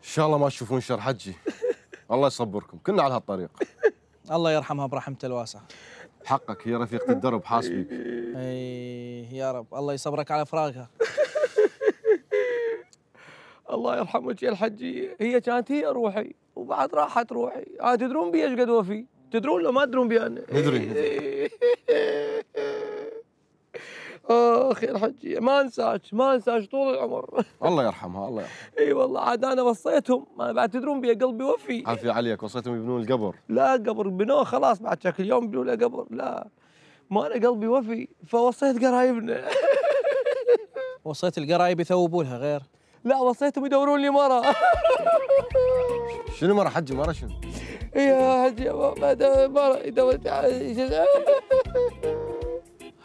شاء الله ما تشوفون شر حجي. الله يصبركم، كنا على هالطريق. الله يرحمها برحمته الواسعة. حقك، هي رفيقة الدرب حاسبك. اي يا رب الله يصبرك على فراقها. الله يرحمك يا الحجية، هي كانت هي روحي وبعد راحت روحي. تدرون بي ايش قد وفي؟ تدرون لو ما تدرون بي انا؟ ندري. اخ يا الحجية، ما انساك طول العمر. الله يرحمها الله يرحمها. اي والله عاد انا وصيتهم، ما بعد تدرون بي قلبي وفي. عافية عليك، وصيتهم يبنون القبر. لا قبر بنوه خلاص، بعد شكل يوم يبنون له قبر. لا ما انا قلبي وفي، فوصيت قرايبنا. وصيت القرايب يثوبوا لها غير؟ لا وصيتهم يدورون لي مرة. شنو مرة حجي؟ مرة شنو؟ يا حجي مرة يدور.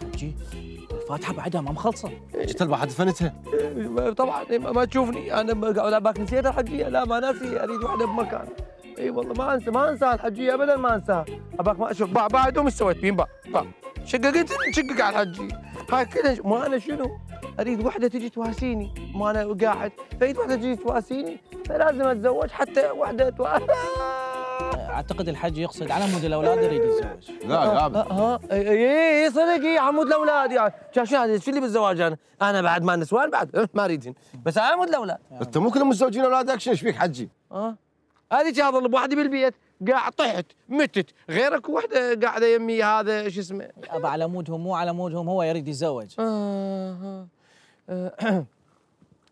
حجي الفاتحة بعدها ما مخلصة. جيت البح دفنتها. طبعا ما تشوفني انا باك نسيت الحجية. لا ما ناسي، اريد واحدة بمكان. اي والله ما انسى الحجية ابدا، ما انساها. اباك ما اشوف بعد ايش سويت بين شققت نشقق على الحجية هاي كلها. ما انا شنو اريد وحده تجي تواسيني، ما انا قاعد فاريد وحده تجي تواسيني، فلازم اتزوج حتى وحده اعتقد الحج يقصد على مود الاولاد يريد يتزوج. لا يا عبد. اي صدق، اي عمود الاولاد يعني. شو هذا؟ شو اللي بالزواج انا بعد ما نسوان بعد ما اريدهن، بس عمود الاولاد. انت مو كلهم متزوجين اولادك، شنو ايش فيك حجي؟ هذه كان اظل بوحدي بالبيت قاعد طحت متت، غيرك وحده قاعده يمي هذا شو اسمه. ابا على مودهم مو على مودهم، هو يريد يتزوج.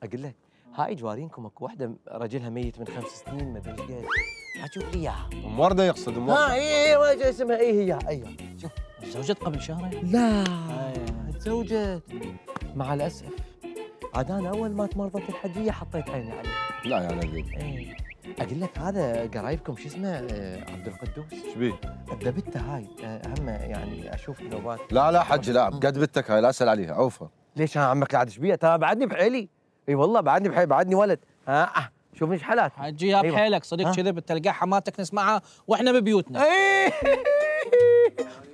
اقول لك هاي جوارينكم اكو وحده رجلها ميت من 5 سنين ما ادري ايش قد، حتشوف لي اياها. ام ورده يقصد ام ورده. اي اسمها هي شوف تزوجت قبل شهرين؟ لا تزوجت مع الاسف. عاد انا اول ما تمرضت الحجيه حطيت عيني عليها. لا يا نبيل. اقول لك هذا قرايبكم شو اسمه عبد القدوس. ايش بيه؟ الدبته هاي هم يعني اشوف نوبات. لا حجي لا، قد بنتك هاي لا اسال عليها، عوفها. ليش عمك لا عاد ايش بيه؟ ترى بعدني بحيلي. اي والله بعدني بحيلي، بعدني ولد. شوف ايش حالات حجي يا بحيلك صدق كذب تلقى حماتك نسمعها واحنا ببيوتنا.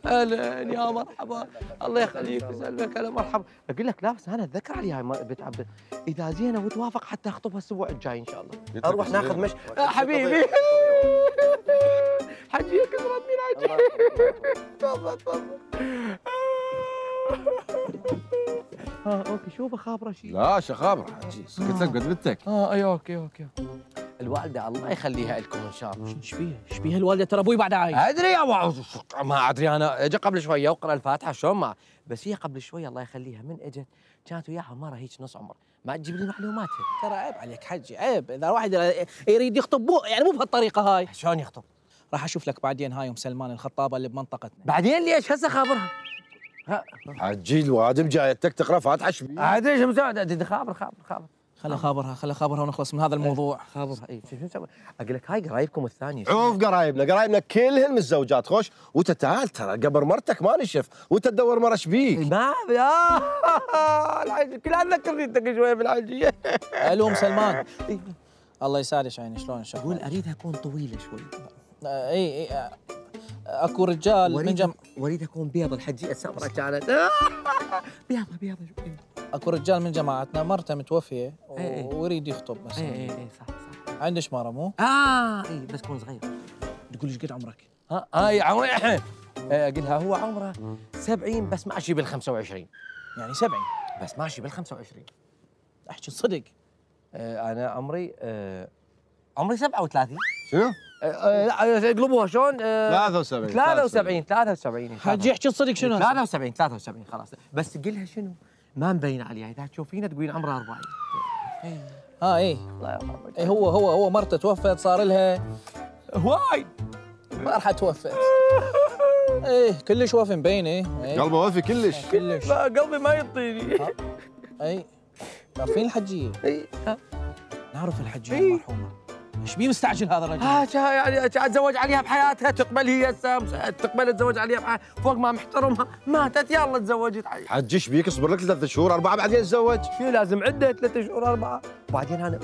اهلا يا مرحبا، الله يخليك ويسلمك. هلا مرحبا. اقول لك لا بس انا اتذكر عليها بنت عبد، اذا زينه وتوافق حتى اخطبها الاسبوع الجاي ان شاء الله. اروح ناخذ مش حبيبي. حجيك كثرت من حجي. تفضل تفضل. اوكي شوف خابره شيء. لا شخابره حجي، قلت لك قد بنتك. اي اوكي. الوالده الله يخليها لكم ان شاء الله. ايش بيها الوالده؟ ترى ابوي بعد عايش. ادري يا ما ادري، انا اجى قبل شويه وقرا الفاتحه شلون ما، بس هي قبل شويه الله يخليها من اجت كانت وياها مره هيك نص عمر، ما تجيب لي معلوماتها. ترى عيب عليك حجي، عيب اذا واحد يريد يخطب يعني مو بهالطريقه هاي. شلون يخطب؟ راح اشوف لك بعدين هاي ام سلمان الخطابه اللي بمنطقتنا. بعدين ليش هسه خابرها؟ حجي الوادم جايتك تقرا فاتحه ايش بيه؟ عاد ايش مساعد؟ خابر. خلها خابرها ونخلص من هذا الموضوع. خابرها اي شو نسوي؟ اقول لك هاي قرايبكم الثانيه. شوف قرايبنا كلهن متزوجات خوش، وانت تعال ترى قبر مرتك ما نشف، وانت تدور مره ايش بيك؟ ما الحجي كل ذكرني انت شويه بالحجيه. الو ام سلمان. الله يسعدك عيني، شلون ان شاء الله؟ قول اريدها تكون طويله شوي. اي اكو رجال من اريد اكون بيض. الحجيه سمراء كانت بيضه. اكو رجال من جماعتنا مرته متوفيه ويريد يخطب بس. اي صح. عندش مره مو؟ اي بس تكون صغير. تقول ايش قد عمرك؟ اي عمري اقولها هو عمره 70 بس ماشي بال 25. يعني 70 بس ماشي بال 25. احكي صدق. انا عمري 37. شنو؟ لا يقلبوها شلون؟ 73 حاجي احكي صدق شنو؟ 73 خلاص. بس قلها شنو؟ ما مبين عليها، اذا تشوفينها تقولين عمرها 40. اي الله يرحمك. هو مرته توفت صار لها هواي ما راح توفت. كلش وفي مبينه. قلبه وفي كلش. لا قلبي ما يعطيني. عارفين الحجيه؟ نعرف الحجيه المرحومه. ايش بيه مستعجل هذا الرجل؟ يعني اتزوج عليها بحياتها، تقبل هي تقبل اتزوج عليها بحياتها، فوق ما محترمها ماتت يلا تزوجت. حج ايش بيك؟ اصبر لك 3 شهور 4 بعدين تتزوج. شو لازم عده 3 شهور 4؟ وبعدين انا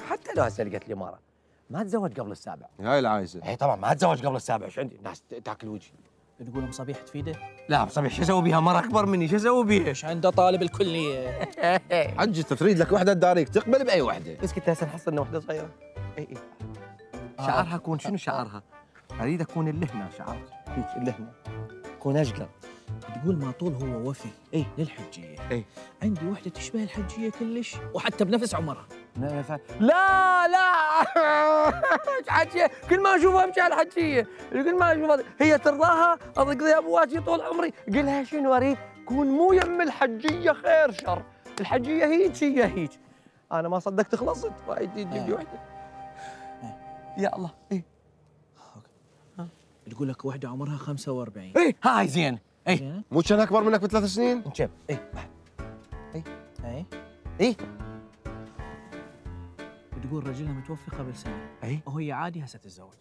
حتى لو هسه لقيت لي مره ما اتزوج قبل السابع. هاي العايزه. اي طبعا ما اتزوج قبل السابع، ايش عندي؟ ناس تاكل وجهي. تقول مصابيح تفيده؟ لا مصابيح شو اسوي بيها؟ مره اكبر مني شو اسوي بيها؟ ايش عنده طالب الكليه؟ حجي تريد لك وحده تداريك تقبل باي وحده. بس كنت هسه حصلنا وحده صغيره. اي شعرها يكون شنو شعرها؟ اريد اكون اللي هنا شعرها هيك اللي هنا يكون اشقر. تقول ما طول هو وفي للحجيه. عندي وحده تشبه الحجيه كلش وحتى بنفس عمرها. لا حجيه كل ما اشوفها امشي على الحجيه، كل ما اشوفها هي ترضاها اضيق يا ابواتي طول عمري. قل لها شنو اريد؟ كون مو يم الحجيه خير شر، الحجيه هيك هي هيك. انا ما صدقت خلصت تجيب لي وحده. يا الله تقول لك وحده عمرها 45. هاي زين. مو كان اكبر منك ب3 سنين؟ نشوف. تقول رجلها متوفي قبل سنه وهي عادي هسه تتزوج.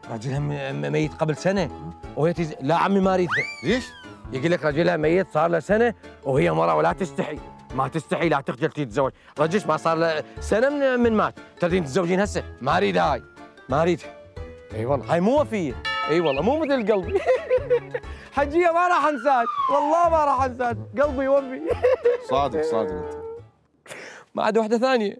رجلها ميت قبل سنه وهي لا عمي ما اريدها. ليش؟ يقول لك رجلها ميت صار له سنه وهي مرة ولا تستحي، ما تستحي لا تخجل تتزوج، رجلش ما صار له سنه من مات، تريدين تتزوجين هسه؟ ما اريد هاي، ما اريدها. اي والله هاي مو وفيه، اي والله مو مثل قلبي. حجيه ما راح انساك، والله ما راح انساك، قلبي يوفي. صادق انت. ما عاد وحده ثانيه.